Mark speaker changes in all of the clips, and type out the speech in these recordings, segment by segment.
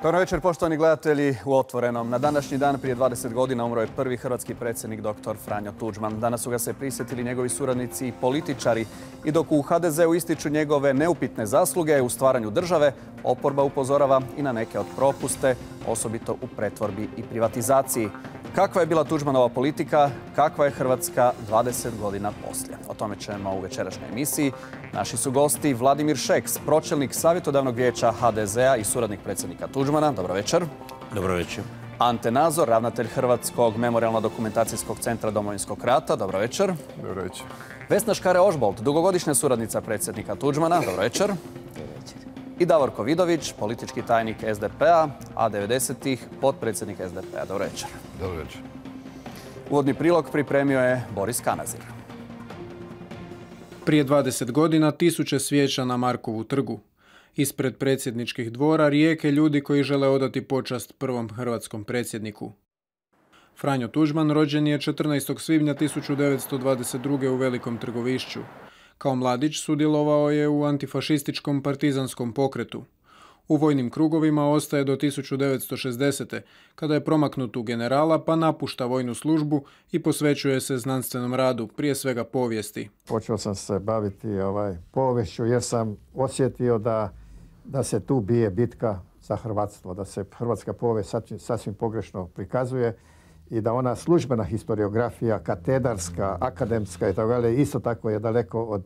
Speaker 1: Dobro večer, poštovani gledatelji u Otvorenom. Na današnji dan prije 20 godina umro je prvi hrvatski predsjednik dr. Franjo Tuđman. Danas su ga se prisjetili njegovi suradnici i političari. I dok u HDZ-u ističu njegove neupitne zasluge u stvaranju države, oporba upozorava i na neke od propuste, osobito u pretvorbi i privatizaciji. Kakva je bila Tuđmanova politika, kakva je Hrvatska 20 godina poslije? O tome ćemo u večerašnjoj emisiji. Naši su gosti Vladimir Šeks, pročelnik savjetodavnog vijeća HDZ-a i suradnik predsjednika Tuđmana. Dobro večer.
Speaker 2: Dobro večer.
Speaker 1: Ante Nazor, ravnatelj Hrvatskog memorijalno-dokumentacijskog centra Domovinskog rata. Dobro večer.
Speaker 3: Dobro večer.
Speaker 1: Vesna Škare-Ožbolt, dugogodišnja suradnica predsjednika Tuđmana. Dobro večer. I Davorko Vidović, politički tajnik SDP-a, a 90-ih potpredsjednik SDP-a. Dobro večer.
Speaker 3: Dobro večer.
Speaker 1: Uvodni prilog pripremio je Boris Kanazir.
Speaker 4: Prije 20 godina tisuće svijeća na Markovu trgu. Ispred predsjedničkih dvora rijeke ljudi koji žele odati počast prvom hrvatskom predsjedniku. Franjo Tuđman rođen je 14. svibnja 1922. u Velikom Trgovišću. Kao mladić sudjelovao je u antifašističkom partizanskom pokretu. U vojnim krugovima ostaje do 1960. kada je promaknut u generala pa napušta vojnu službu i posvećuje se znanstvenom radu, prije svega povijesti.
Speaker 5: Počeo sam se baviti poviješću jer sam osjetio da se tu bije bitka za hrvatstvo, da se hrvatska povijest sasvim pogrešno prikazuje i da ona službena historiografija, katedarska, akademska i tako dalje, isto tako je daleko od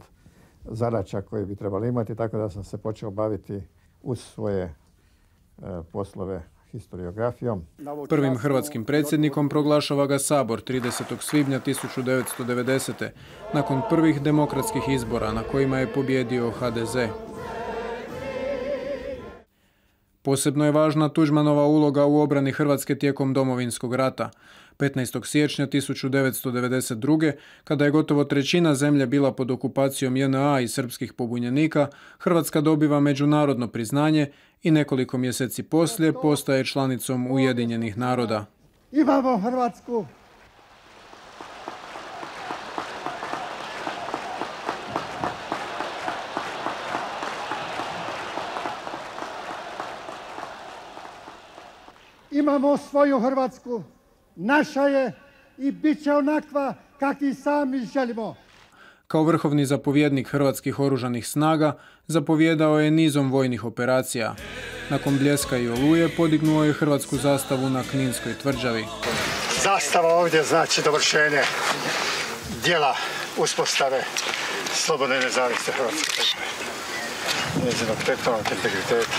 Speaker 5: zadaća koje bi trebali imati, tako da sam se počeo baviti uz svoje poslove historiografijom.
Speaker 4: Prvim hrvatskim predsjednikom proglašava ga Sabor 30. svibnja 1990. nakon prvih demokratskih izbora na kojima je pobijedio HDZ. Posebno je važna Tuđmanova uloga u obrani Hrvatske tijekom Domovinskog rata. 15. siječnja 1992. kada je gotovo trećina zemlje bila pod okupacijom JNA i srpskih pobunjenika, Hrvatska dobiva međunarodno priznanje i nekoliko mjeseci poslije postaje članicom Ujedinjenih naroda.
Speaker 6: Imamo Hrvatsku! Imamo svoju Hrvatsku, naša je i bit će onakva kakvi sami želimo.
Speaker 4: Kao vrhovni zapovjednik hrvatskih oružanih snaga zapovjedao je nizom vojnih operacija. Nakon Bljeska i Oluje podignuo je hrvatsku zastavu na Kninskoj tvrđavi.
Speaker 6: Zastava ovdje znači dovršenje dijela uspostave slobodne i nezavisne Hrvatske. Njezinog teritorijalnog integriteta.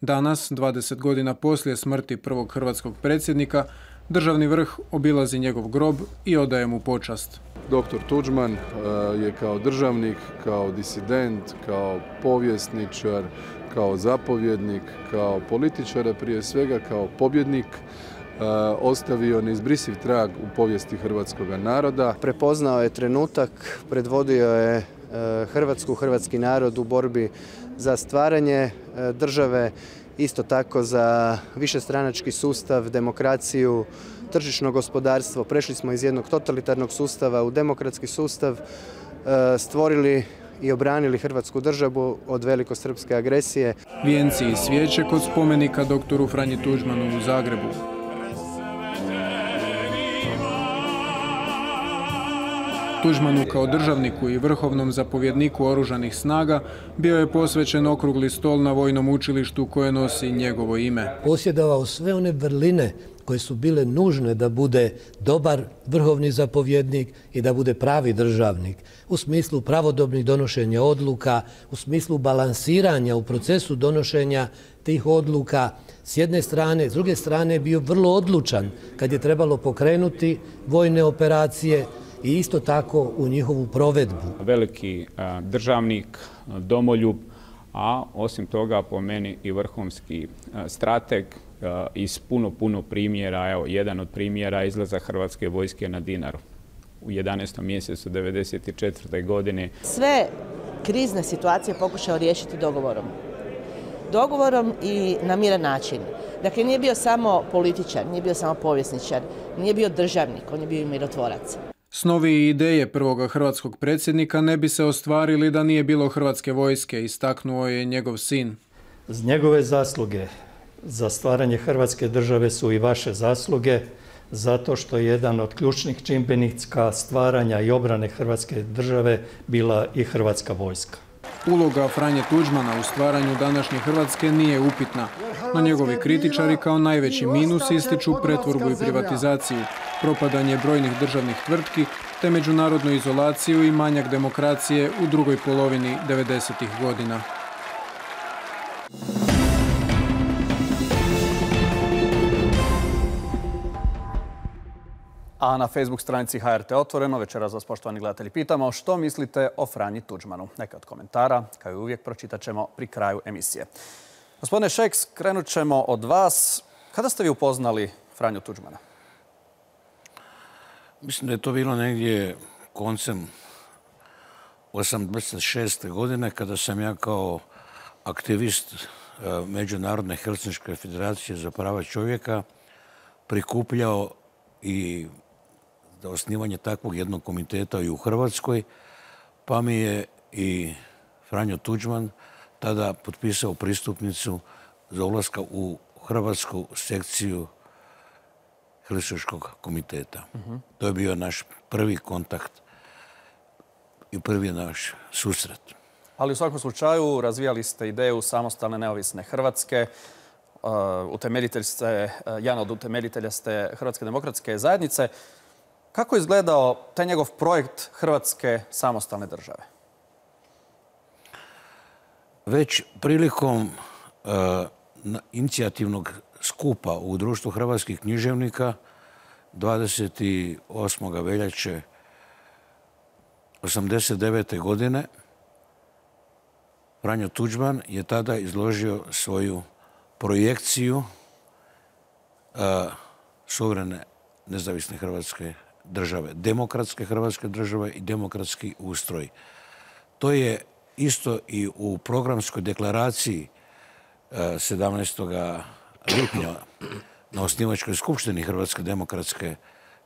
Speaker 4: Danas, 20 godina poslije smrti prvog hrvatskog predsjednika, državni vrh obilazi njegov grob i odaje mu počast.
Speaker 3: Dr. Tuđman je kao državnik, kao disident, kao povjesničar, kao zapovjednik, kao političar, a prije svega kao pobjednik, ostavio neizbrisiv trag u povijesti hrvatskog naroda.
Speaker 7: Prepoznao je trenutak, predvodio je Hrvatsku, hrvatski narod u borbi za stvaranje države, isto tako za višestranački sustav, demokraciju, tržišno gospodarstvo. Prešli smo iz jednog totalitarnog sustava u demokratski sustav, stvorili i obranili Hrvatsku državu od velikosrpske agresije.
Speaker 4: Vijenci i svijeće kod spomenika doktoru Franji Tuđmanu u Zagrebu. Tuđmanu kao državniku i vrhovnom zapovjedniku oružanih snaga bio je posvećen okrugli stol na vojnom učilištu koje nosi njegovo ime.
Speaker 8: Posjedovao sve one vrline koje su bile nužne da bude dobar vrhovni zapovjednik i da bude pravi državnik. U smislu pravodobnih donošenja odluka, u smislu balansiranja u procesu donošenja tih odluka s jedne strane, s druge strane bio vrlo odlučan kad je trebalo pokrenuti vojne operacije i isto tako u njihovu provedbu.
Speaker 9: Veliki državnik, domoljub, a osim toga po meni i vrhunski strateg iz puno primjera. Evo, jedan od primjera izlaza Hrvatske vojske na Dinaru u 11. mjesecu 1994. godine.
Speaker 10: Sve krizne situacije pokušao riješiti dogovorom. Dogovorom i na miran način. Dakle, nije bio samo političar, nije bio samo povjesničar, nije bio državnik, on je bio i mirotvorac.
Speaker 4: Snovi i ideje prvoga hrvatskog predsjednika ne bi se ostvarili da nije bilo Hrvatske vojske, istaknuo je njegov sin.
Speaker 11: Z njegove zasluge
Speaker 2: za stvaranje Hrvatske države su i vaše zasluge, zato što je jedan od ključnih čimbenika stvaranja i obrane Hrvatske države bila i Hrvatska vojska.
Speaker 4: Uloga Franje Tuđmana u stvaranju današnje Hrvatske nije upitna, no njegovi kritičari kao najveći minus ističu pretvorbu i privatizaciju, propadanje brojnih državnih tvrtki te međunarodnu izolaciju i manjak demokracije u drugoj polovini 90-ih godina.
Speaker 1: A na Facebook stranici HRT Otvoreno večeras vas, poštovani gledatelji, pitamo što mislite o Franji Tuđmanu. Neka od komentara, kao i uvijek, pročitat ćemo pri kraju emisije. Gospodine Šeks, krenut ćemo od vas. Kada ste vi upoznali Franju Tuđmana?
Speaker 11: Mislim da je to bilo negdje koncem 86. godine kada sam ja kao aktivist Međunarodne Helsinške federacije za prava čovjeka prikupljao i za osnivanje takvog jednog komiteta i u Hrvatskoj, pa mi je i Franjo Tuđman tada potpisao pristupnicu za ulaska u hrvatsku sekciju Helsinškog komiteta. To je bio naš prvi kontakt i prvi naš susret.
Speaker 1: Ali u svakom slučaju razvijali ste ideju samostalne neovisne Hrvatske. Jedan od utemeljitelja ste Hrvatske demokratske zajednice. Kako je izgledao taj njegov projekt Hrvatske samostalne države?
Speaker 11: Već prilikom inicijativnog skupa u Društvu hrvatskih književnika 28. veljače 1989. godine Franjo Tuđman je tada izložio svoju projekciju suverene nezavisne Hrvatske države, demokratske Hrvatske države i demokratski ustroj. To je isto i u programskoj deklaraciji 17. lipnja na osnivačkoj skupštini Hrvatske demokratske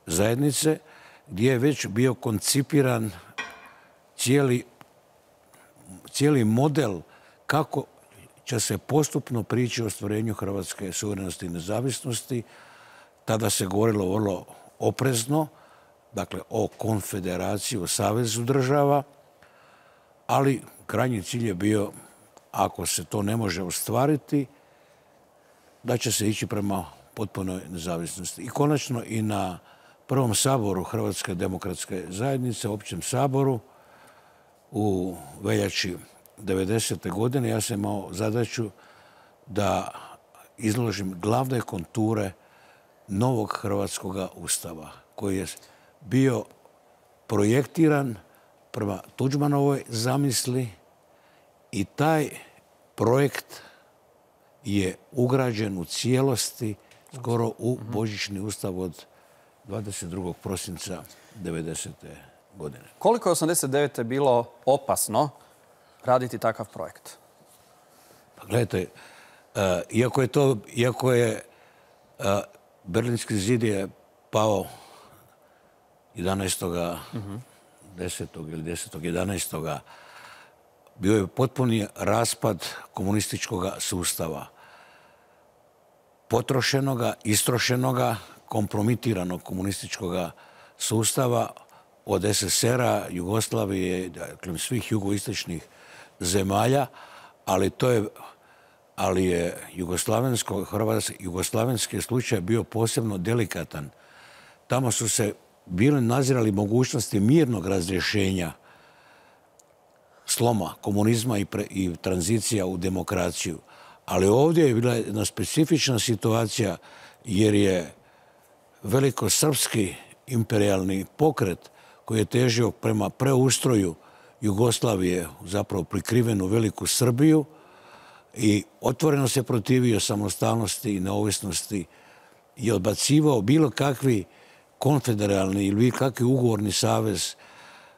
Speaker 11: zajednice, gdje je već bio koncipiran cijeli model kako će se postupno prići o ostvarenju hrvatske suverenosti i nezavisnosti. Tada se govorilo vrlo oprezno, dakle o konfederaciji, o savezu država, ali krajnji cilj je bio, ako se to ne može ostvariti, da će se ići prema potpunoj nezavisnosti. I konačno i na prvom saboru Hrvatske demokratske zajednice, općem saboru, u veljači 90. godine ja sam imao zadaću da izložim glavne konture novog hrvatskog ustava koji je bio projektiran prema Tuđmanovoj zamisli i taj projekt je ugrađen u cijelosti skoro u božićni ustav od 22. prosinca 90. godine.
Speaker 1: Koliko je 89. bilo opasno raditi takav projekt?
Speaker 11: Pa gledajte, iako je Berlinski zid je pao 11. 10. ili 10. 11. bio je potpuni raspad komunističkog sustava. Potrošenoga, istrošenoga, kompromitiranog komunističkog sustava od SSR-a, Jugoslavije, dakle svih jugoistočnih zemalja, ali je jugoslavenski slučaj bio posebno delikatan. Tamo su se bile nazirali mogućnosti mirnog razrješenja sloma komunizma i tranzicija u demokraciju. Ali ovdje je bila jedna specifična situacija jer je velikosrpski imperijalni pokret koji je težio prema preustroju Jugoslavije, zapravo prikrivenu Veliku Srbiju, i otvoreno se protivio samostalnosti i neovisnosti i odbacivao bilo kakvi konfederalni ili bilo kakvi ugovorni savez,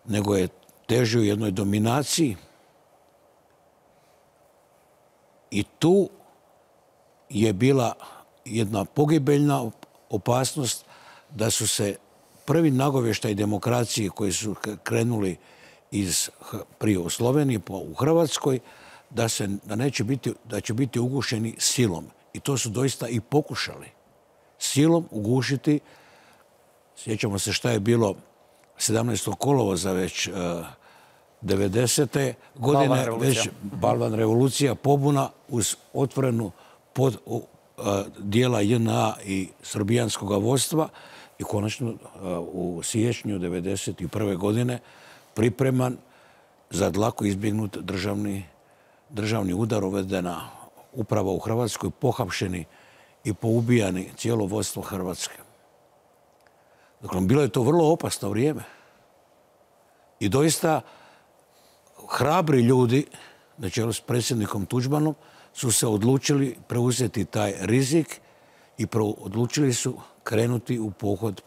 Speaker 11: nego je težio jednoj dominaciji. I tu je bila jedna pogibeljna opasnost da su se prvi nagovještaji demokracije koji su krenuli prije u Sloveniji, pa u Hrvatskoj, da će biti ugušeni silom. i to su doista i pokušali, silom ugušiti. Sjećamo se šta je bilo 17. kolovoza već 90. godine, već balvan revolucija, pobuna uz otvorenu dijela JNA i srbijanskog vodstva i konačno u siječnju 91. godine pripreman za dlako izbjegnut državni udar uvedena upravo u Hrvatskoj, pohapšeni i poubijani cijelo vodstvo Hrvatske. Dakle, bilo je to vrlo opasno vrijeme. I doista hrabri ljudi, na čelu s predsjednikom Tuđmanom, su se odlučili preuzeti taj rizik i odlučili su krenuti u pohod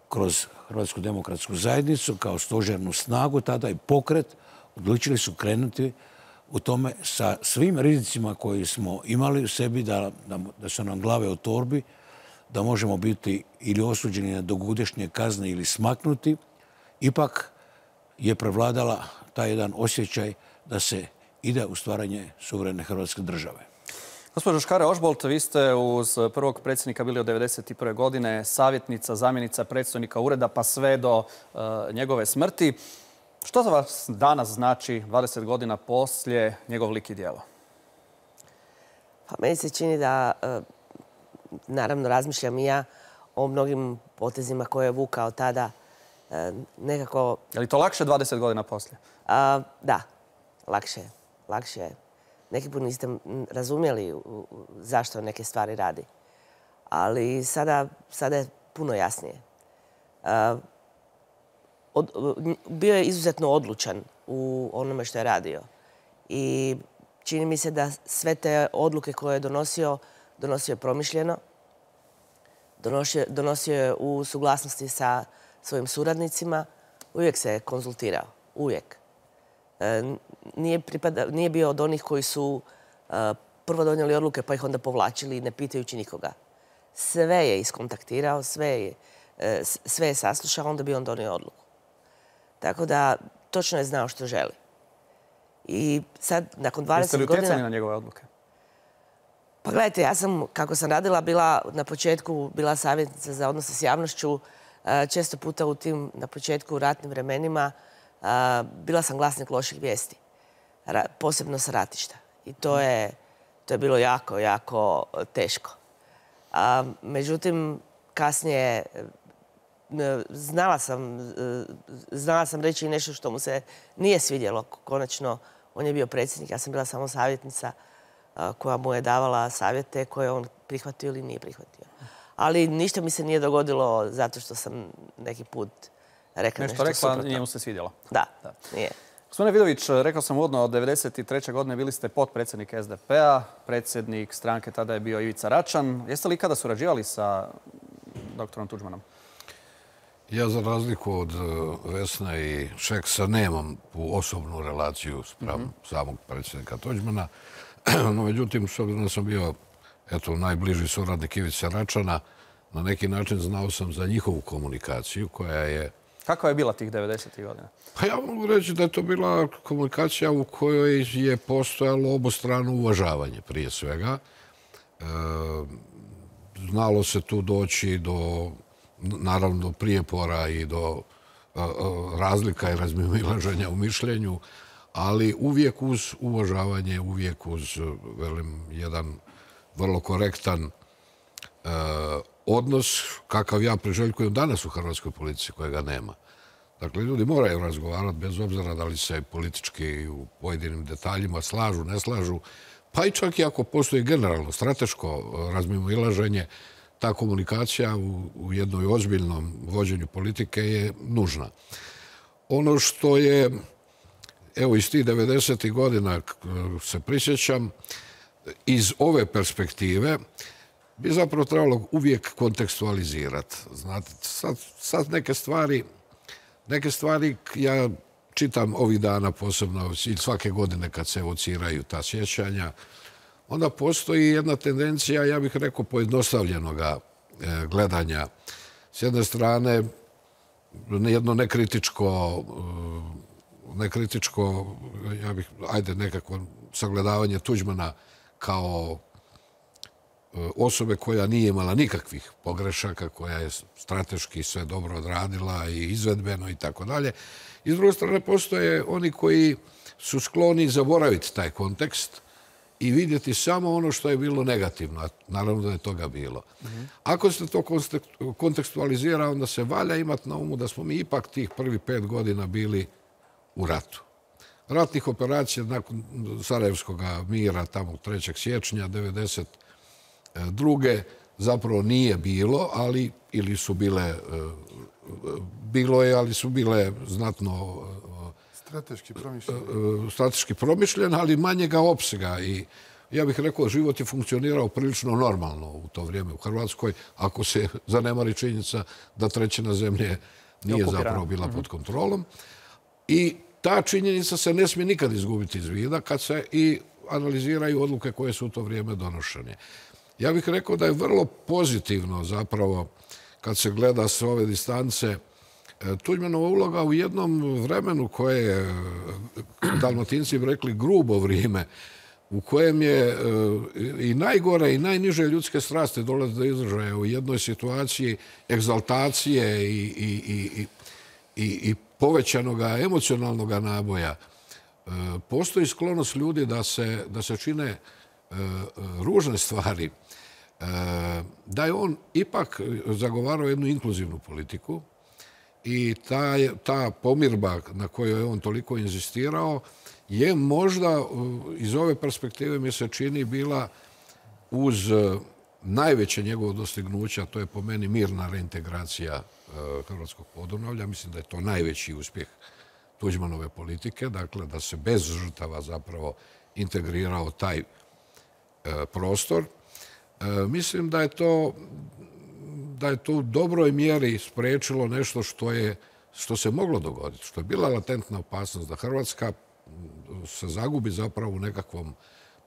Speaker 11: kroz Hrvatsku demokratsku zajednicu kao stožernu snagu, tada i pokret, odlučili su krenuti u tome sa svim rizicima koji smo imali u sebi, da su nam glave u torbi, da možemo biti ili osuđeni na dugogodišnje kazne ili smaknuti. Ipak je prevladala taj jedan osjećaj da se ide u stvaranje suverene Hrvatske države.
Speaker 1: Gospođo Škare-Ožbolt, vi ste uz prvog predsjednika bili od 1991. godine savjetnica, zamjenica predstojnika ureda pa sve do njegove smrti. Što za vas danas znači, 20 godina poslije, njegov lik i djelo?
Speaker 10: Pa meni se čini da, naravno, razmišljam i ja o mnogim potezima koje je vukao tada. Nekako...
Speaker 1: Je li to lakše 20 godina poslije?
Speaker 10: Da, lakše je. Neki put niste razumjeli zašto neke stvari radi. Ali sada je puno jasnije. Bio je izuzetno odlučan u onome što je radio. I čini mi se da sve te odluke koje je donosio je promišljeno. Donosio je u suglasnosti sa svojim suradnicima. Uvijek se konzultirao. Uvijek. Nije bio od onih koji su prvo donijeli odluke pa ih onda povlačili ne pitajući nikoga. Sve je iskontaktirao, sve je saslušao, onda bi on donio odluku. Tako da točno je znao što želi. I sad, nakon 20 godina...
Speaker 1: Jeste li utjecani na njegove odluke?
Speaker 10: Pa gledajte, ja sam, kako sam radila, na početku bila savjetnica za odnose s javnošću. Često puta u tim, na početku, ratnim vremenima, bila sam glasnik loših vijesti, posebno sa ratišta. I to je bilo jako, jako teško. Međutim, kasnije znala sam reći nešto što mu se nije svidjelo. Konačno, on je bio predsjednik, ja sam bila samo savjetnica koja mu je davala savjete koje on prihvatio ili nije prihvatio. Ali ništa mi se nije dogodilo zato što sam neki put rekla nešto suprotno.
Speaker 1: Rekla, nije mu se svidjelo.
Speaker 10: Da, nije.
Speaker 1: Gospodine Vidović, rekao sam uvodno, od 1993. godine bili ste potpredsjednik SDP-a, predsjednik stranke tada je bio Ivica Račan. Jeste li ikada surađivali sa doktorom Tuđmanom?
Speaker 11: Ja, za razliku od Vesne i Šeksa, nemam osobnu relaciju spram samog predsjednika Tuđmana. No, međutim, s obzirom da sam bio najbliži suradnik Ivice Račana, na neki način znao sam za njihovu komunikaciju koja je...
Speaker 1: Kakva je bila tih 90. godina?
Speaker 11: Pa ja mogu reći da je to bila komunikacija u kojoj je postojalo obostrano uvažavanje prije svega. Znalo se tu doći do, naravno, prijepora i do razlika i razmimoilaženja u mišljenju, ali uvijek uz uvažavanje, uvijek uz, velim, jedan vrlo korektan odnos kakav ja priželjkujem danas u hrvatskoj politici kojega nema. Dakle, ljudi moraju razgovarati bez obzira da li se politički u pojedinim detaljima slažu, ne slažu, pa i čak i ako postoji generalno strateško razmimoilaženje, ta komunikacija u jednoj ozbiljnom vođenju politike je nužna. Ono što je, evo, iz tih 90. godina se prisjećam, iz ove perspektive bi zapravo trebalo uvijek kontekstualizirati. Znate, sad neke stvari ja čitam ovih dana posebno i svake godine kad se evociraju ta sjećanja, onda postoji jedna tendencija, ja bih rekao, pojednostavljenog gledanja. S jedne strane, jedno nekritičko, ja bih, nekako sagledavanje Tuđmana kao osobe koja nije imala nikakvih pogrešaka, koja je strateški sve dobro odradila i izvedbeno i tako dalje. I s druge strane postoje oni koji su skloni zaboraviti taj kontekst i vidjeti samo ono što je bilo negativno, a naravno da je toga bilo. Ako se to kontekstualizira, onda se valja imati na umu da smo mi ipak tih prvih 5 godina bili u ratu. Ratnih operacija nakon Sarajevskog mira, tamo 3. siječnja 1992. zapravo nije bilo, ali ili su bile, bilo je, ali su bile znatno strateški promišljene, ali manjega opsega. I ja bih rekao, život je funkcionirao prilično normalno u to vrijeme u Hrvatskoj, ako se zanemari činjenica da 1/3 zemlje nije zapravo bila pod kontrolom. I ta činjenica se ne smije nikad izgubiti iz vida kad se i analiziraju odluke koje su u to vrijeme donošene. Ja bih rekao da je vrlo pozitivno zapravo kad se gleda s ove distance Tuđmanova uloga u jednom vremenu koje je, Dalmatinci bi rekli, grubo vrijeme, u kojem je i najgore i najniže ljudske strasti dolaze do izražaja u jednoj situaciji egzaltacije i povećanog emocionalnog naboja. Postoji sklonost ljudi da se čine ružne stvari, da je on ipak zagovarao jednu inkluzivnu politiku i ta pomirba na kojoj je on toliko inzistirao je možda iz ove perspektive mi se čini bila uz najveće njegovo dostignuća, to je po meni mirna reintegracija hrvatskog Podunavlja. Mislim da je to najveći uspjeh Tuđmanove politike, dakle da se bez žrtava zapravo integrirao taj prostor. Mislim da je to u dobroj mjeri spriječilo nešto što se moglo dogoditi, što je bila latentna opasnost da Hrvatska se zagubi zapravo u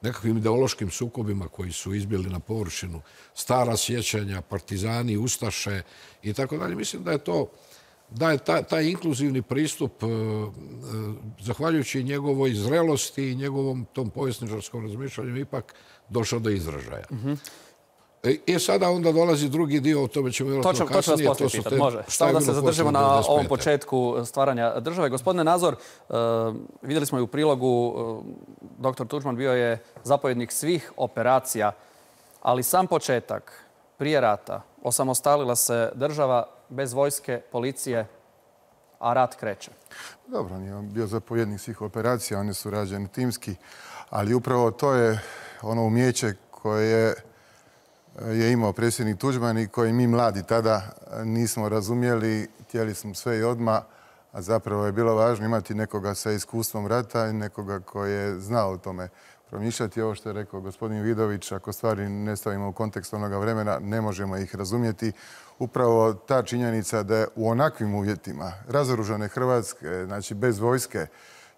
Speaker 11: nekakvim ideološkim sukobima koji su izbili na površinu, stara sjećanja, partizani, ustaše i tako dalje. Mislim da je taj inkluzivni pristup, zahvaljujući njegovoj zrelosti i njegovom tom povjesničarskom razmišljanju, ipak došao do izražaja. I sada onda dolazi drugi dio, o tome ćemo vjerojatno kasnije.
Speaker 1: To ću vas poslije pitati, može. Samo da se zadržimo na ovom početku stvaranja države. Gospodine Nazor, vidjeli smo i u prilogu, dr. Tuđman bio je zapovjednik svih operacija, ali sam početak, prije rata, osamostalila se država bez vojske, policije, a rat kreće.
Speaker 12: Dobro, on je bio zapovjednik svih operacija, one su rađene timski, ali upravo to je ono umijeće koje je imao predsjednik Tuđman i koji mi mladi tada nismo razumjeli, htjeli smo sve i odmah, a zapravo je bilo važno imati nekoga sa iskustvom rata i nekoga koji je znao o tome promišljati. Ovo što je rekao gospodin Vidović, ako stvari ne stavimo u kontekst onoga vremena, ne možemo ih razumjeti. Upravo ta činjenica da je u onakvim uvjetima razoružane Hrvatske, znači bez vojske,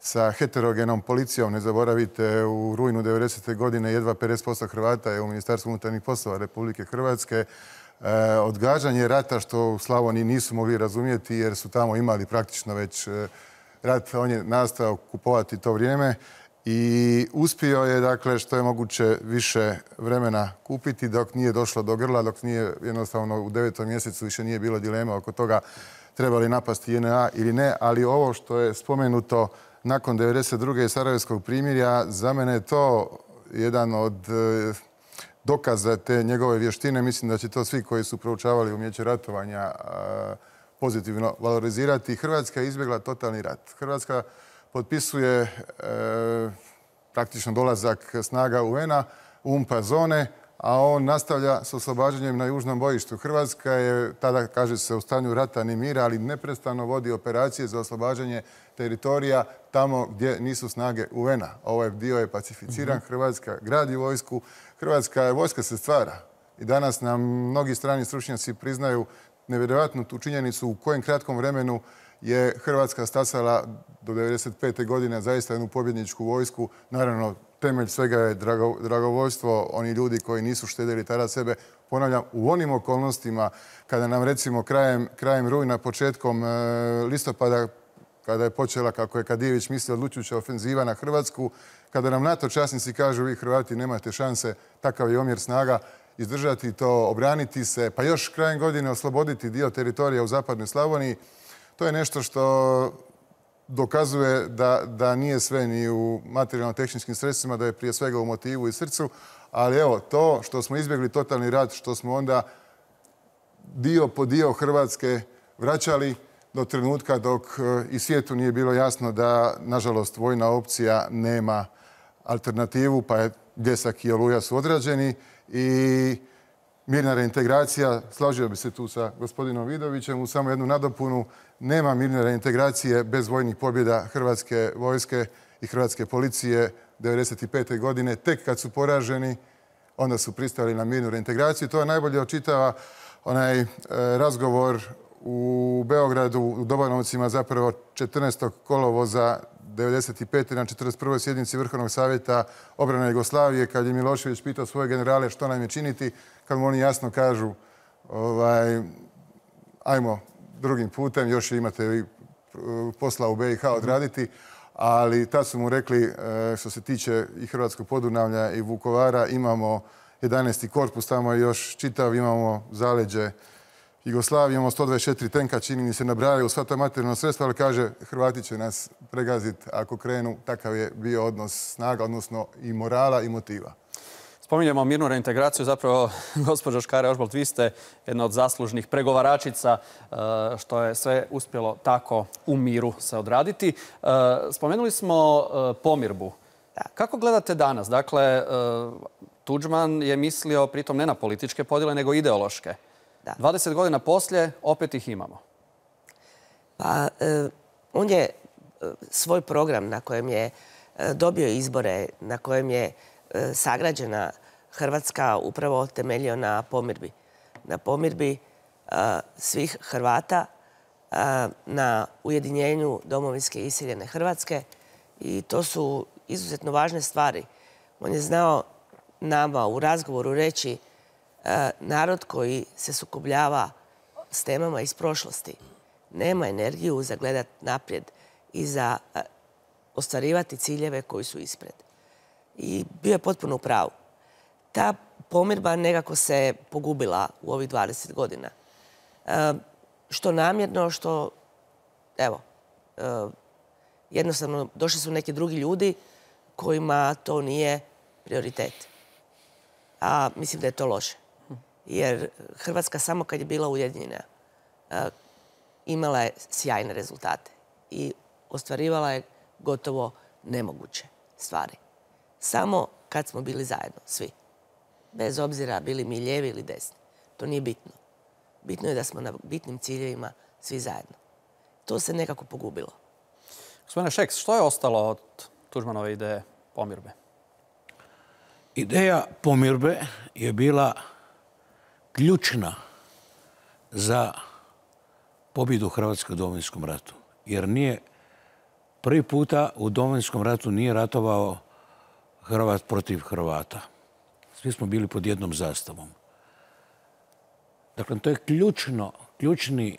Speaker 12: sa heterogenom policijom, ne zaboravite, u rujnu 90. godine jedva 50% Hrvata je u Ministarstvu unutarnjih poslova Republike Hrvatske. Odgađanje rata što u Slavoniji nisu mogli razumjeti jer su tamo imali praktično već rat, on je nastao kupovati to vrijeme i uspio je, dakle, što je moguće više vremena kupiti dok nije došlo do grla, dok nije jednostavno u 9. mjesecu više nije bilo dilema oko toga treba li napasti JNA ili ne, ali ovo što je spomenuto nakon 1992. Sarajevskog primirja, za mene je to jedan od dokaza te njegove vještine. Mislim da će to svi koji su proučavali umijeće ratovanja pozitivno valorizirati. Hrvatska je izbjegla totalni rat. Hrvatska potpisuje praktično dolazak snaga UN-a u UNPA zone, a on nastavlja s oslobađanjem na južnom bojištu. Hrvatska je, tada kaže se, u stanju rata ni mira, ali neprestano vodi operacije za oslobađanje teritorija tamo gdje nisu snage UN-a. Ovaj dio je pacificiran, Hrvatska gradi vojsku, Hrvatska vojska se stvara. I danas nam mnogi strani stručnjaci priznaju nevjerojatnu tu činjenicu u kojem kratkom vremenu je Hrvatska stasala do 1995. godine zaista jednu pobjedničku vojsku. Naravno, temelj svega je dragovoljstvo, oni ljudi koji nisu štedjeli tada sebe. Ponavljam, u onim okolnostima kada nam recimo krajem rujna, početkom listopada kada je počela, kako je Kadijević mislio, odlučujuća ofenziva na Hrvatsku, kada nam NATO časnici kažu vi Hrvati nemate šanse, takav je omjer snaga, izdržati to, obraniti se, pa još krajem godine osloboditi dio teritorija u zapadnoj Slavoniji, to je nešto što dokazuje da nije sve ni u materijalno-tehničkim sredstvima, da je prije svega u motivu i srcu, ali evo, to što smo izbjegli totalni rat, što smo onda dio po dio Hrvatske vraćali do trenutka dok i svijetu nije bilo jasno da, nažalost, vojna opcija nema alternativu, pa je Bljesak i Oluja su odrađeni i mirna reintegracija, složio bi se tu sa gospodinom Vidovićem, u samo jednu nadopunu, nema mirne reintegracije bez vojnih pobjeda Hrvatske vojske i Hrvatske policije 1995. godine. Tek kad su poraženi, onda su pristali na mirnu reintegraciju. To je najbolje očitava onaj razgovor u Beogradu, u Dobanovcima, zapravo 14. kolovoza 1995. na 41. sjednici Vrhovnog savjeta obrane Jugoslavije, kad je Milošević pitao svoje generale što nam je činiti, kad mu oni jasno kažu ajmo drugim putem, još imate vi posla u BiH odraditi, ali tad su mu rekli, što se tiče i Hrvatskog Podunavlja i Vukovara, imamo 11. korpus, tamo je još čitav, imamo zaleđe Jugoslavije, imamo 124 tenka, čini mi se, nabrajaju sva ta materijalna sredstva, ali kaže, Hrvati će nas pregaziti ako krenu. Takav je bio odnos snaga, odnosno i morala i motiva.
Speaker 1: Spominjemo mirnu reintegraciju, zapravo, gospođo Škare-Ožbolt, vi ste jedna od zaslužnih pregovaračica što je sve uspjelo tako u miru se odraditi. Spomenuli smo pomirbu. Kako gledate danas? Dakle, Tuđman je mislio pritom ne na političke podjele, nego ideološke. 20 godina poslije opet ih imamo.
Speaker 10: Pa, on je svoj program na kojem je dobio izbore, na kojem je sagrađena Hrvatska upravo temeljio na pomirbi. Na pomirbi svih Hrvata, na ujedinjenju domovinske iseljene Hrvatske i to su izuzetno važne stvari. On je znao nama u razgovoru reći narod koji se sukobljava s temama iz prošlosti nema energiju za gledat naprijed i za ostvarivati ciljeve koji su ispred. I bio je potpuno u pravu. Ta pomirba nekako se pogubila u ovih 20 godina. Što namjerno, što, evo, jednostavno došli su neki drugi ljudi kojima to nije prioritet. A mislim da je to loše. Jer Hrvatska samo kad je bila ujedinjena imala je sjajne rezultate i ostvarivala je gotovo nemoguće stvari. Samo kad smo bili zajedno, svi. Bez obzira bili mi lijevi ili desni. To nije bitno. Bitno je da smo na bitnim ciljevima svi zajedno. To se nekako pogubilo.
Speaker 1: Gospodine Šeks, što je ostalo od Tuđmanove ideje pomirbe?
Speaker 11: Ideja pomirbe je bila ključna za pobjedu Hrvatske u Domovinskom ratu. Jer nije prvi puta u Domovinskom ratu nije ratovao Hrvat protiv Hrvata. Svi smo bili pod jednom zastavom. Dakle, to je ključni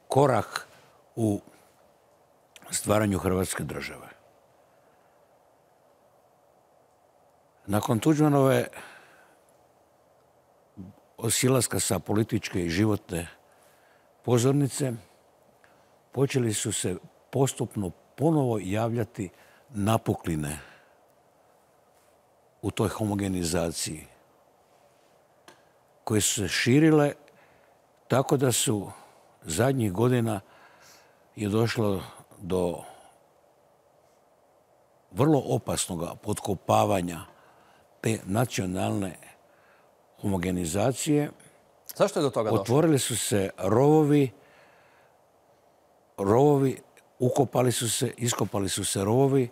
Speaker 11: korak u stvaranju Hrvatske države. Nakon Tuđmanove silaska sa političke i životne pozornice počeli su se postupno ponovo javljati napukline u toj homogenizaciji koje su se širile tako da su zadnjih godina je došlo do vrlo opasnog potkopavanja te nacionalne homogenizacije.
Speaker 1: Zašto je do toga došlo?
Speaker 11: Otvorili su se rovovi, ukopali su se, iskopali su se rovovi.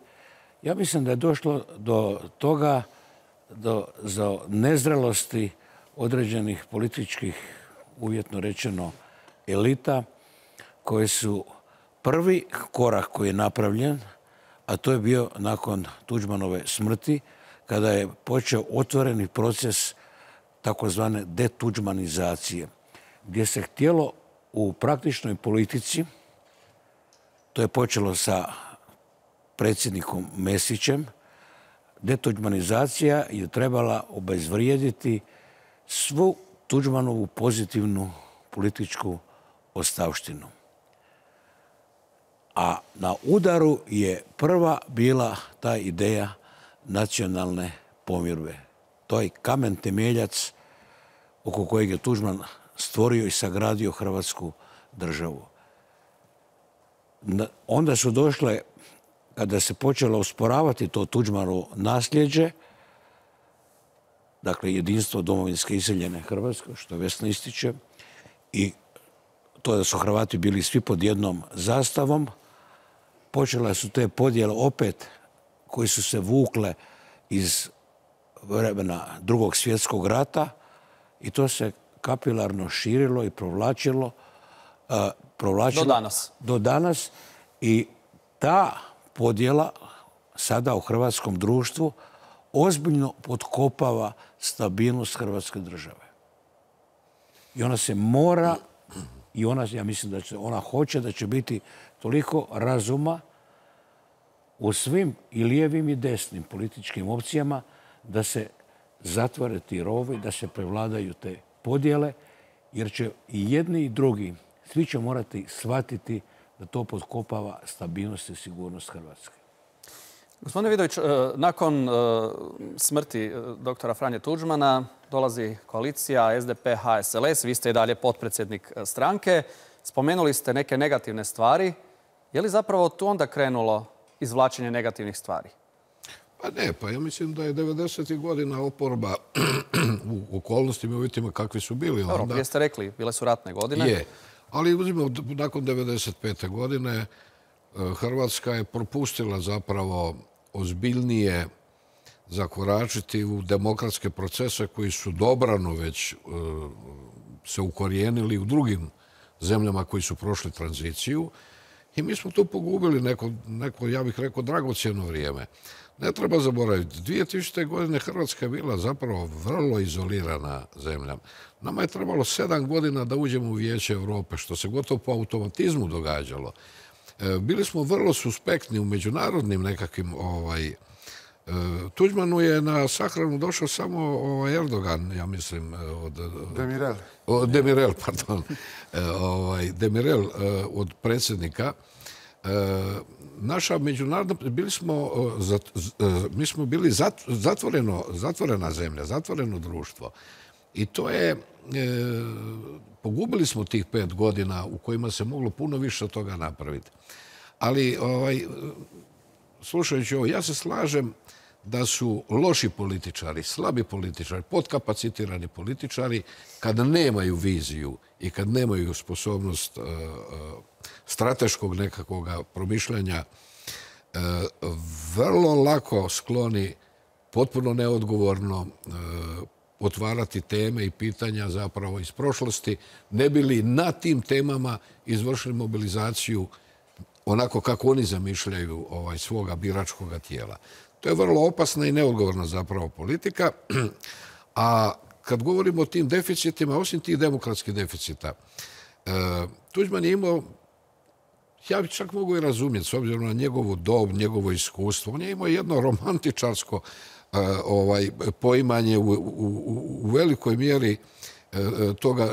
Speaker 11: Ja mislim da je došlo do toga, do nezrelosti određenih političkih, uvjetno rečeno, elita, koje su prvi korak koji je napravljen, a to je bio nakon Tuđmanove smrti, kada je počeo otvoreni proces takozvane detuđmanizacije, gdje se htjelo u praktičnoj politici To je počelo sa predsjednikom Mesićem. Detuđmanizacija je trebala obezvrijediti svu Tuđmanovu pozitivnu političku ostavštinu. A na udaru je prva bila ta ideja nacionalne pomirbe. To je kamen temeljac oko kojeg je Tuđman stvorio i sagradio Hrvatsku državu. Onda su došle, kada se počelo usporavati to Tuđmanovo nasljeđe, dakle jedinstvo domovinske iseljene Hrvatske, što Vesna ističe, i to da su Hrvati bili svi pod jednom zastavom, počele su te podjele opet koji su se vukle iz vremena Drugog svjetskog rata i to se kapilarno širilo i provlačilo do danas. I ta podjela sada u hrvatskom društvu ozbiljno potkopava stabilnost Hrvatske države. I ona se mora, i ja mislim da ona hoće da će biti toliko razuma u svim i lijevim i desnim političkim opcijama da se zatvore ti rovi, da se prevladaju te podjele, jer će i jedni i drugi, svi će morati shvatiti da to potkopava stabilnost i sigurnost Hrvatske.
Speaker 1: Gospodine Vidović, nakon smrti doktora Franje Tuđmana dolazi koalicija SDP-HSLS. Vi ste i dalje potpredsjednik stranke. Spomenuli ste neke negativne stvari. Je li zapravo tu onda krenulo izvlačenje negativnih stvari?
Speaker 13: Pa ne, pa ja mislim da je 90. godina oporba u okolnostima i uvjetima kakvi su bili.
Speaker 1: Dobro, prije ste rekli, bile su ratne godine.
Speaker 13: Je, ali uzmimo, nakon 95. godine Hrvatska je propustila zapravo ozbiljnije zakoračiti u demokratske procese koji su dobrano već se ukorijenili u drugim zemljama koji su prošli tranziciju. I mi smo tu pogubili neko, ja bih rekao, dragocjeno vrijeme. Ne treba zaboraviti, 2000. godine Hrvatska je bila zapravo vrlo izolirana zemlja. Nama je trebalo 7 godina da uđemo u Vijeće Europe, što se gotovo po automatizmu događalo. Bili smo vrlo suspektni u međunarodnim nekakvim... Tuđmanu je na sahranu došao samo Erdogan, ja mislim, Demirel, pardon. Demirel od predsjednika. Naša međunarodna... Mi smo bili zatvorena zemlja, zatvoreno društvo. I to je... Pogubili smo tih 5 godina u kojima se moglo puno više od toga napraviti. Ali, slušajući ovo, ja se slažem da su loši političari, slabi političari, podkapacitirani političari, kada nemaju viziju i kad nemaju sposobnost strateškog nekakvog promišljanja, vrlo lako skloni potpuno neodgovorno otvarati teme i pitanja zapravo iz prošlosti, ne bi li na tim temama izvršili mobilizaciju onako kako oni zamišljaju svoga biračkog tijela. To je vrlo opasna i neodgovorna zapravo politika. A kad govorimo o tim deficitima, osim tih demokratskih deficita, Tuđman je imao, ja bi čak mogu i razumjeti, s obzirom na njegovu dob, njegovo iskustvo, on je imao jedno romantičarsko poimanje u velikoj mjeri toga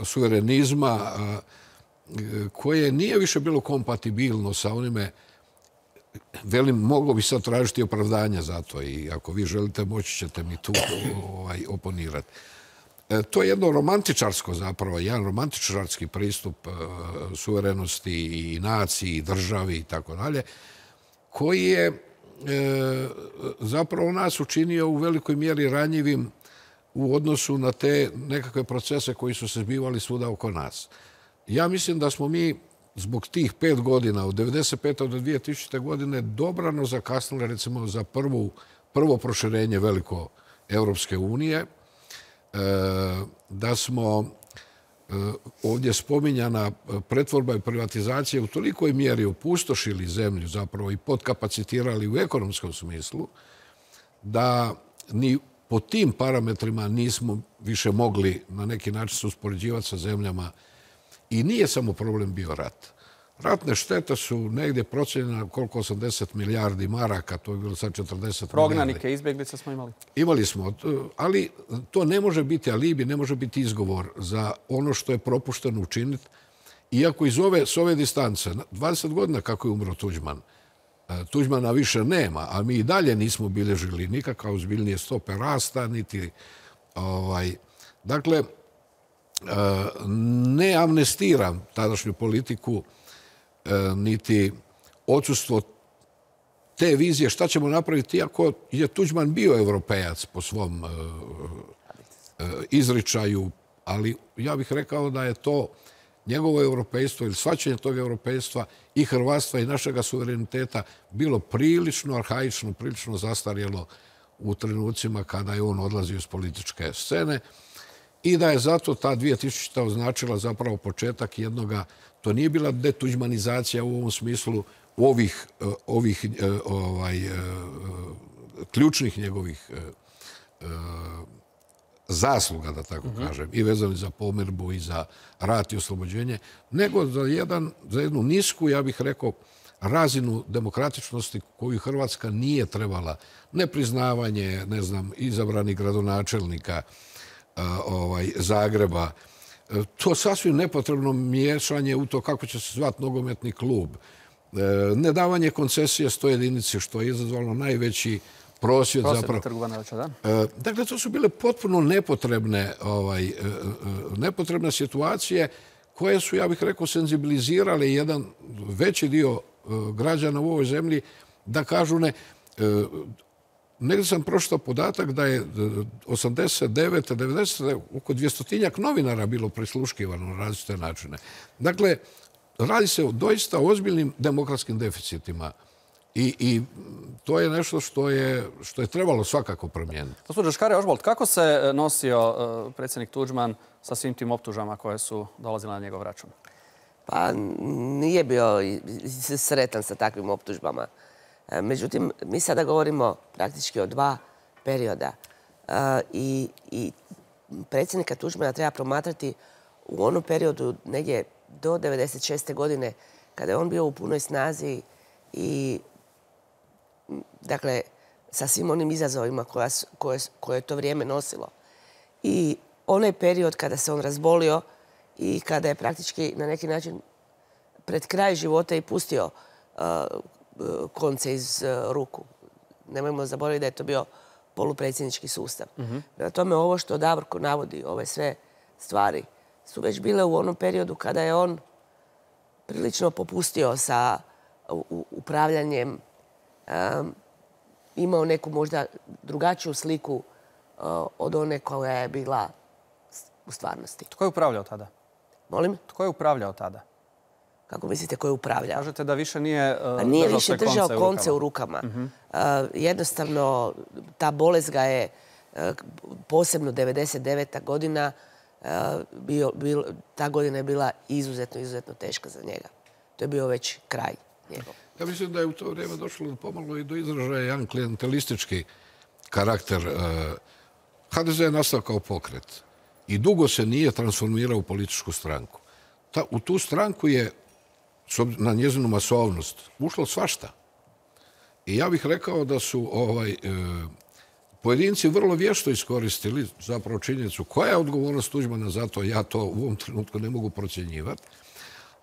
Speaker 13: suverenizma koje nije više bilo kompatibilno sa onime, velim, moglo bi sad tražiti opravdanja za to i ako vi želite moći ćete mi tu oponirati. To je jedno romantičarsko zapravo, jedan romantičarski pristup suverenosti i naciji, i državi i tako dalje, koji je zapravo nas učinio u velikoj mjeri ranjivim u odnosu na te nekakve procese koji su se zbivali svuda oko nas. Ja mislim da smo mi zbog tih 5 godina, od 1995. do 2000. godine, dobrano zakasnili recimo za prvo proširenje veliko Europske unije, da smo ovdje spominjana pretvorba i privatizacija u tolikoj mjeri opustošili zemlju zapravo i podkapacitirali u ekonomskom smislu, da ni po tim parametrima nismo više mogli na neki način se uspoređivati sa zemljama. I nije samo problem bio rat. Ratne štete su negdje procijenjene koliko 80 milijardi maraka, to je bilo sad 40 milijardi.
Speaker 1: Prognanike, izbjeglice smo imali?
Speaker 13: Imali smo, ali to ne može biti alibi, ne može biti izgovor za ono što je propušteno učiniti. Iako s ove distance, 20 godina kako je umro Tuđman, Tuđmana više nema, a mi i dalje nismo bilježili nikakav ozbiljnije stope rasta, niti... Dakle, ne amnestiram tadašnju politiku, niti odsustvo te vizije šta ćemo napraviti, iako je Tuđman bio evropejac po svom izričaju, ali ja bih rekao da je to njegovo europejstvo ili shvaćanje tog europejstva i hrvatstva i našega suvereniteta bilo prilično arhaično, prilično zastarjelo u trenucima kada je on odlazio iz političke scene i da je zato ta 2000. označila zapravo početak jednoga, to nije bila detuđmanizacija u ovom smislu ovih ključnih njegovih zasluga, da tako kažem, i vezani za pomirbu i za rat i oslobođenje, nego za jednu nisku, ja bih rekao, razinu demokratičnosti koju Hrvatska nije trebala. Nepriznavanje, ne znam, izabranih gradonačelnika Zagreba, to sasvim nepotrebno miješanje u to kako će se zvati nogometni klub, nedavanje koncesije 100 jedinici, što je izazvalo najveći prosvjed zapravo. Dakle, to su bile potpuno nepotrebne situacije koje su, ja bih rekao, senzibilizirale jedan veći dio građana u ovoj zemlji da kažu ne. Negdje sam pročitao podatak da je 89. 90. oko 200-tinjak novinara bilo prisluškivano na različite načine. Dakle, radi se o doista ozbiljnim demokratskim deficitima. I to je nešto što je trebalo svakako promijeniti.
Speaker 1: Gospođo Škare-Ožbolt, kako se nosio predsjednik Tuđman sa svim tim optužbama koje su dolazile na njegov račun?
Speaker 10: Pa nije bio sretan sa takvim optužbama. Međutim, mi sada govorimo praktički o dva perioda. I predsjednika Tuđmana treba promatrati u onom periodu negdje do 1996. godine kada je on bio u punoj snazi i dakle, sa svim onim izazovima koje je to vrijeme nosilo. I onaj period kada se on razbolio i kada je praktički na neki način pred kraj života i pustio konce iz ruku. Nemojmo zaboraviti da je to bio polupredsjednički sustav. Prema tome, ovo što Davorko navodi, ove sve stvari, su već bile u onom periodu kada je on prilično popustio sa upravljanjem, imao neku možda drugačiju sliku od one koja je bila u stvarnosti.
Speaker 1: Tko je upravljao tada?
Speaker 10: Molim?
Speaker 1: Tko je upravljao tada?
Speaker 10: Kako mislite ko je upravljao?
Speaker 1: Kažete da više nije
Speaker 10: držao konce u rukama. Jednostavno, ta bolest ga je, posebno 1999. godina, ta godina je bila izuzetno teška za njega. To je bio već kraj njegov.
Speaker 13: Ja mislim da je u to vrijeme došlo pomalo i do izražaja jedan klijentelistički karakter. HDZ je nastao kao pokret i dugo se nije transformirao u političku stranku. U tu stranku je, na njezinu masovnost, ušlo svašta. I ja bih rekao da su pojedinci vrlo vješto iskoristili zapravo činjenicu koja je odgovornost Tuđmana za to, ja to u ovom trenutku ne mogu procjenjivati,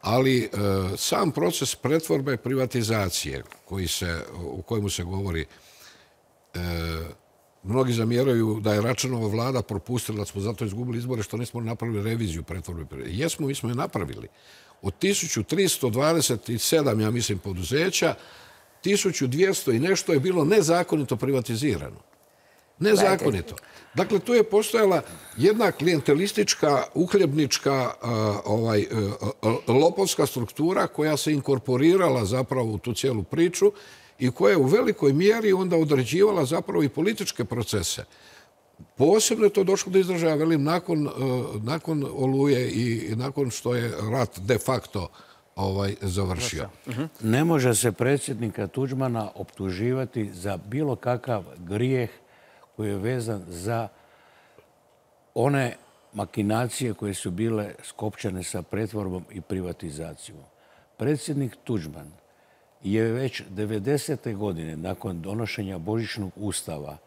Speaker 13: ali sam proces pretvorbe i privatizacije u kojemu se govori, mnogi zamjeraju da je Račanova vlada propustila, da smo zato izgubili izbore što nismo napravili reviziju pretvorbe. Jesmo, mi smo je napravili. Od 1327, ja mislim, poduzeća, 1200 i nešto je bilo nezakonito privatizirano. Nezakonito. Dakle, tu je postojala jedna klijentelistička, uhljebnička, lopovska struktura koja se inkorporirala zapravo u tu cijelu priču i koja je u velikoj mjeri onda određivala zapravo i političke procese. Posebno je to došlo do izražaja, velim, nakon Oluje i nakon što je rat de facto završio.
Speaker 11: Ne može se predsjednika Tuđmana optuživati za bilo kakav grijeh koji je vezan za one makinacije koje su bile skopčane sa pretvorbom i privatizacijom. predsjednik Tuđman je već 90. godine, nakon donošenja Božićnog ustava,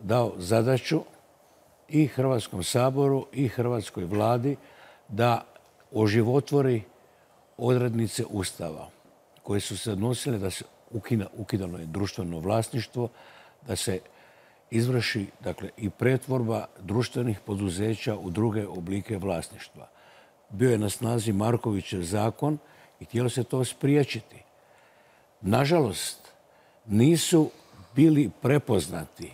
Speaker 11: dao zadaću i Hrvatskom saboru i Hrvatskoj vladi da oživotvori odrednice ustava koje su se odnosile da se ukidano je društveno vlasništvo, da se izvrši i pretvorba društvenih poduzeća u druge oblike vlasništva. Bio je na snazi Markovićev zakon i htjelo se to spriječiti. Nažalost, nisu bili prepoznati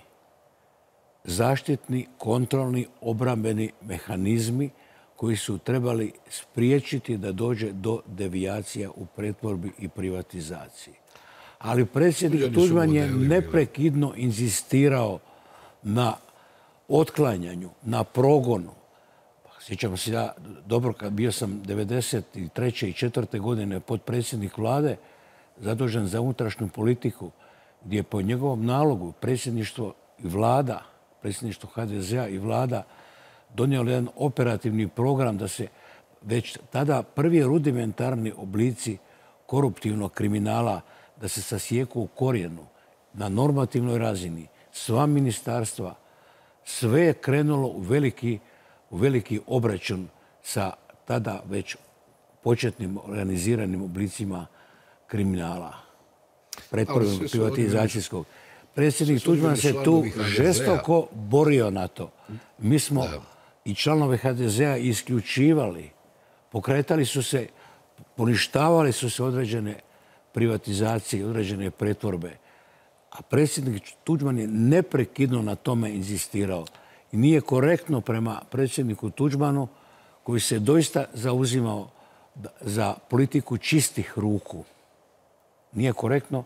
Speaker 11: zaštitni, kontrolni, obrambeni mehanizmi koji su trebali spriječiti da dođe do devijacija u pretvorbi i privatizaciji. Ali predsjednik Tuđman je neprekidno inzistirao na otklanjanju, na progonu. Sjećam se ja dobro kad bio sam 93. i 4. godine potpredsjednik vlade zadužen za unutrašnju politiku, gdje je po njegovom nalogu predsjedništvo i vlada, predsjedništvo HDZ-a i vlada donijelo jedan operativni program da se već tada prvi rudimentarni oblici koruptivnog kriminala da se sasijeku u korijenu na normativnoj razini. Sva ministarstva, sve je krenulo u veliki obračun sa tada već početnim organiziranim oblicima kriminala, pretvorbenog privatizacijskog. Predsjednik Tuđman se tu žestoko borio na to. Mi smo i članove HDZ-a isključivali, pokretali su se, poništavali su se određene privatizacije, određene pretvorbe. A predsjednik Tuđman je neprekidno na tome inzistirao. I nije korektno prema predsjedniku Tuđmanu, koji se doista zauzimao za politiku čistih ruku. Nije korektno,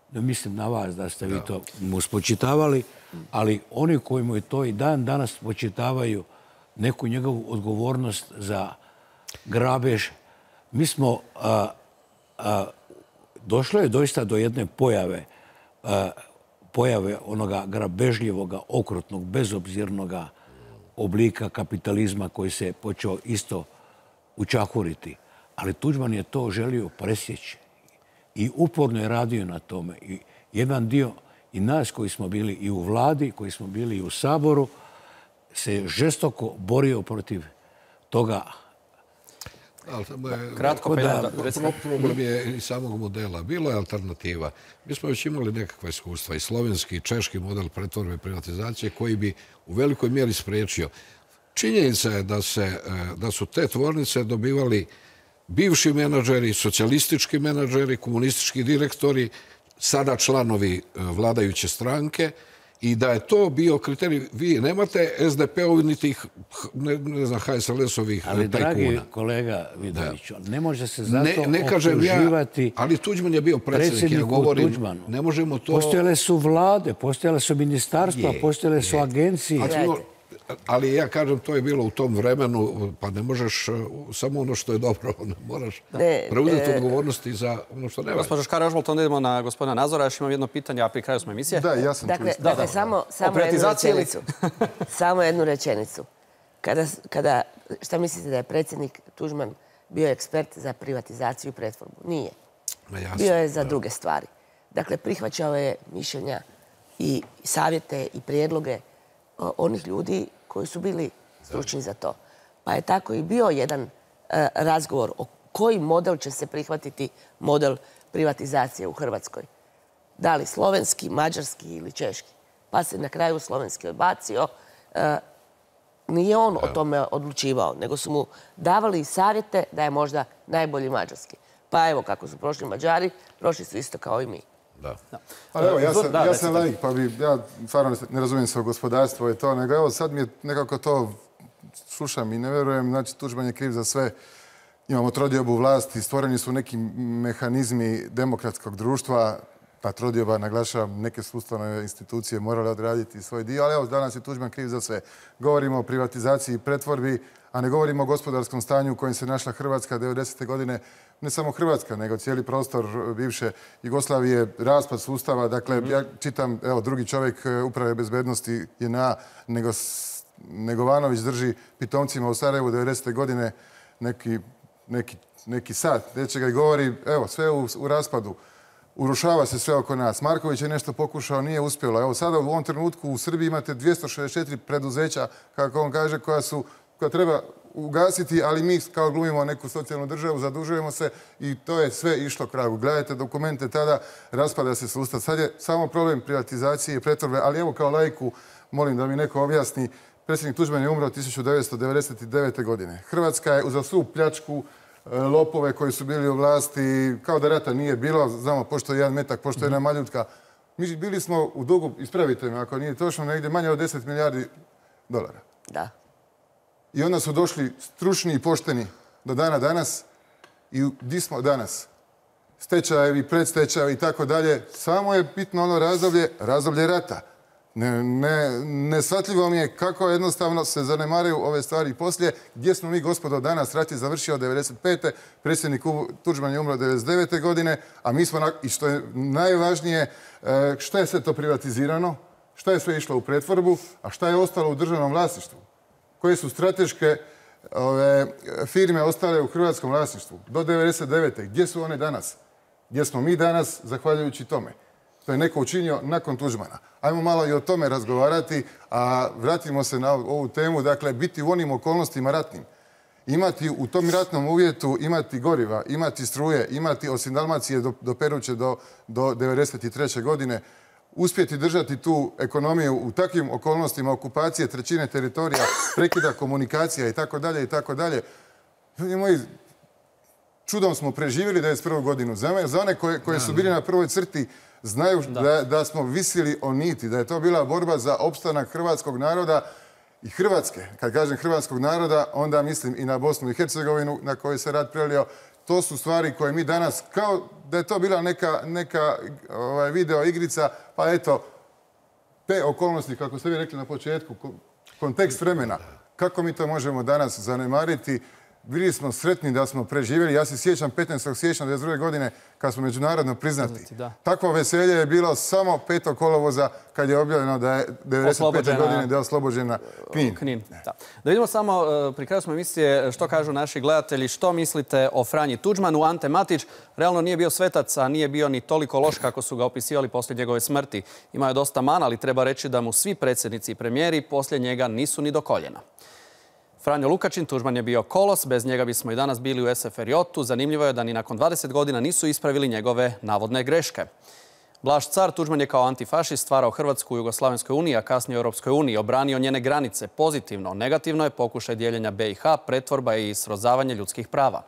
Speaker 11: da mislim na vas da ste vi to mu spočitavali, ali oni koji mu je to i dan danas spočitavaju neku njegovu odgovornost za grabež. Mi smo, došlo je doista do jedne pojave onoga grabežljivoga, okrutnog, bezobzirnoga oblika kapitalizma koji se počeo isto učahuriti. Ali Tuđman je to želio presjeći i uporno je radio na tome. I jedan dio i nas koji smo bili i u vladi, koji smo bili i u Saboru, se žestoko borio protiv toga.
Speaker 13: Kratko, problem je i samog modela. Bilo je alternativa. Mi smo već imali nekakva iskustva i slovenski i češki model pretvorbe i privatizacije koji bi u velikoj mjeri spriječio. Činjenica je da su te tvornice dobivali bivši menadžeri, socijalistički menadžeri, komunistički direktori, sada članovi vladajuće stranke, i da je to bio kriterij. Vi nemate SDP-ovi niti HSLS-ovih tajkuna.
Speaker 11: Ali, dragi kolega Vidoviću, ne može se zato optuživati
Speaker 13: ali Tuđman je bio predsjedniku
Speaker 11: Tuđmanu.
Speaker 13: Ne možemo to...
Speaker 11: Postojale su vlade, postojale su ministarstva, postojale su agencije.
Speaker 13: Ali ja kažem, to je bilo u tom vremenu, pa ne možeš samo ono što je dobro, ne moraš preuzeti odgovornosti za ono što ne valja.
Speaker 1: Gospođo Škare-Ožbolt, onda idemo na gospodina Nazora. Još imam jedno pitanje, a pri kraju smo emisije.
Speaker 12: Da, ja sam tu.
Speaker 10: Dakle, samo jednu rečenicu. Šta mislite da je predsjednik Tuđman bio ekspert za privatizaciju i pretvorbu? Nije. Bio je za druge stvari. Dakle, prihvaćao je mišljenja i savjete i prijedloge onih ljudi koji su bili stručni za to. Pa je tako i bio jedan razgovor o koji model će se prihvatiti model privatizacije u Hrvatskoj. Da li slovenski, mađarski ili češki. Pa se na kraju slovenski odbacio. Nije on o tome odlučivao, nego su mu davali savjete da je možda najbolji mađarski. Pa evo kako su prošli Mađari, prošli su isto kao i mi.
Speaker 12: Ali evo, ja sam laik, pa ja stvarno ne razumijem se o gospodarstvu i to, nego evo sad mi je nekako to slušam i ne vjerujem, znači Tuđman je kriv za sve. Imamo trodiobu vlasti, stvoreni su neki mehanizmi demokratskog društva, ta trodioba, naglašavam, neke sustavne institucije morale odraditi svoj dio, ali evo, danas je Tuđman kriv za sve. Govorimo o privatizaciji i pretvorbi, a ne govorimo o gospodarskom stanju u kojem se našla Hrvatska 90. godine. Ne samo Hrvatska, nego cijeli prostor bivše Jugoslavije, raspad sustava. Dakle, ja čitam, evo, drugi čovjek uprave bezbednosti JNA, Negovanović drži pitomcima u Sarajevu 90. godine neki neki sat nečega i govori, evo, sve u raspadu. Urušava se sve oko nas. Marković je nešto pokušao, nije uspjelo. Evo sada u ovom trenutku u Srbiji imate 264 preduzeća, kako on kaže, koja treba ugasiti, ali mi kao glumimo neku socijalnu državu, zadužujemo se i to je sve išlo kragu. Gledajte dokumente tada, raspada se sustav. Sad je samo problem privatizacije i pretvorbe, ali evo kao laiku, molim da mi neko objasni, predsjednik Tuđman je umro 1999. godine. Hrvatska je uza svu pljačku, lopove koji su bili u vlasti, kao da rata nije bilo, znamo pošto je jedan metak, pošto je jedna maljutka. Mi bili smo u dugu, ispravite me ako nije točno, negdje manje od 10 milijardi dolara.
Speaker 10: Da.
Speaker 12: I onda su došli stručni i pošteni do dana danas i gdje smo danas? Stečajevi, predstečajevi i tako dalje. Samo je bitno ono razdoblje rata. Neshvatljivo mi je kako jednostavno se zanemaraju ove stvari poslije. Gdje smo mi, gospodo, danas? Rat je završio 1995. Predsjednik Tuđman je umro 1999. godine, a mi smo, i što je najvažnije, šta je sve to privatizirano, šta je sve išlo u pretvorbu, a šta je ostalo u državnom vlasništvu? Koje su strateške firme ostale u hrvatskom vlasništvu do 1999. Gdje su one danas? Gdje smo mi danas, zahvaljujući tome? To je neko učinio nakon Tuđmana. Ajmo malo i o tome razgovarati, a vratimo se na ovu temu. Dakle, biti u onim okolnostima ratnim. Imati u tom ratnom uvjetu, imati goriva, imati struje, imati osim Dalmacije do Peruće do 1993. godine, uspjeti držati tu ekonomiju u takvim okolnostima okupacije trećine teritorija, prekida komunikacija i tako dalje i tako dalje. Moji, čudom smo preživjeli 1991. godinu. Za one koji su bili na prvoj crti znaju da smo visili o niti, da je to bila borba za opstanak hrvatskog naroda i Hrvatske. Kad kažem hrvatskog naroda, onda mislim i na Bosnu i Hercegovinu na kojoj se rat prelio. To su stvari koje mi danas, kao da je to bila neka video igrica, pa eto, te okolnosti, kako ste vi rekli na početku, kontekst vremena, kako mi to možemo danas zanemariti? Bili smo sretni da smo preživjeli. Ja se sjećam 15. siječnja 1992. godine kad smo međunarodno priznati. Takvo veselje je bilo samo 5. kolovoza kad je objavljeno da je 1995. godine da je oslobođena Knin.
Speaker 1: Da vidimo samo, pri kraju smo emisije, što kažu naši gledatelji, što mislite o Franji Tuđmanu. Ante Matić realno nije bio svetac, a nije bio ni toliko loš kako su ga opisivali poslije njegove smrti. Imao je dosta mana, ali treba reći da mu svi predsjednici i premijeri poslije njega nisu ni do koljena. Franjo Lukačin, Tuđman je bio kolos, bez njega bismo i danas bili u SFRJ-u. Zanimljivo je da ni nakon 20 godina nisu ispravili njegove navodne greške. Blaž car, Tuđman je kao antifašist stvarao Hrvatsku u Jugoslavenskoj uniji, a kasnije u Europskoj uniji, obranio njene granice pozitivno. Negativno je pokušaj dijeljenja BiH, pretvorba i srozavanje ljudskih prava.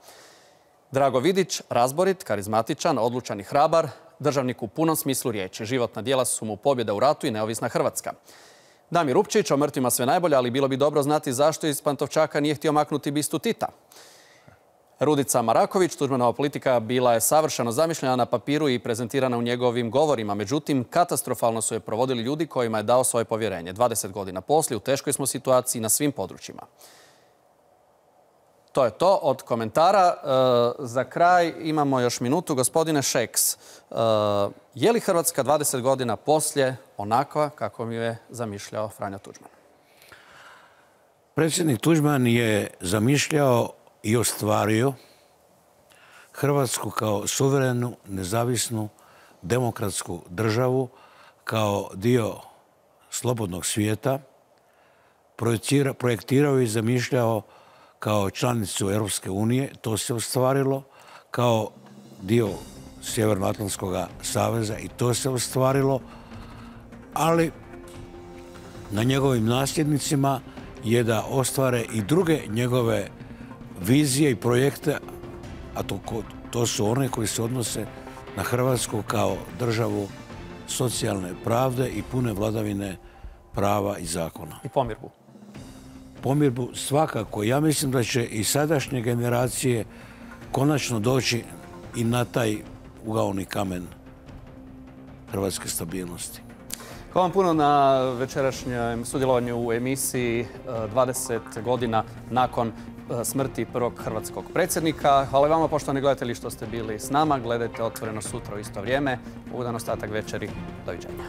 Speaker 1: Drago Vidić, razborit, karizmatičan, odlučan i hrabar, državnik u punom smislu riječi. Životna djela su mu pobjeda u ratu i neovisna Hrvatska. Damir Upčić, o mrtvima sve najbolje, ali bilo bi dobro znati zašto iz Pantovčaka nije htio maknuti bistu Tita. Rudica Maraković, Tuđmanova politika bila je savršeno zamišljena na papiru i prezentirana u njegovim govorima. Međutim, katastrofalno su je provodili ljudi kojima je dao svoje povjerenje. 20 godina poslije, u teškoj smo situaciji na svim područjima. To je to od komentara. Za kraj imamo još minutu. Gospodine Šeks, je li Hrvatska 20 godina poslije onakva kako mi je zamišljao Franjo Tuđman?
Speaker 11: Predsjednik Tuđman je zamišljao i ostvario Hrvatsku kao suverenu, nezavisnu, demokratsku državu, kao dio slobodnog svijeta, projektirao i zamišljao kao članicu Europske unije, to se ostvarilo, kao dio Sjevernoatlantskog saveza i to se ostvarilo, ali na njegovim nasljednicima je da ostvare i druge njegove vizije i projekte, a to su one koji se odnose na Hrvatsku kao državu socijalne pravde i pune vladavine prava i zakona.
Speaker 1: I pomirbu.
Speaker 11: Pomirbu svakako. Ja mislim da će i sadašnje generacije konačno doći i na taj ugaoni kamen hrvatske stabilnosti.
Speaker 1: Hvala vam puno na večerašnjem sudjelovanju u emisiji 20 godina nakon smrti prvog hrvatskog predsjednika. Hvala vama, poštovani gledatelji, što ste bili s nama. Gledajte Otvoreno sutra u isto vrijeme. Ugodan ostatak večeri. Doviđenja.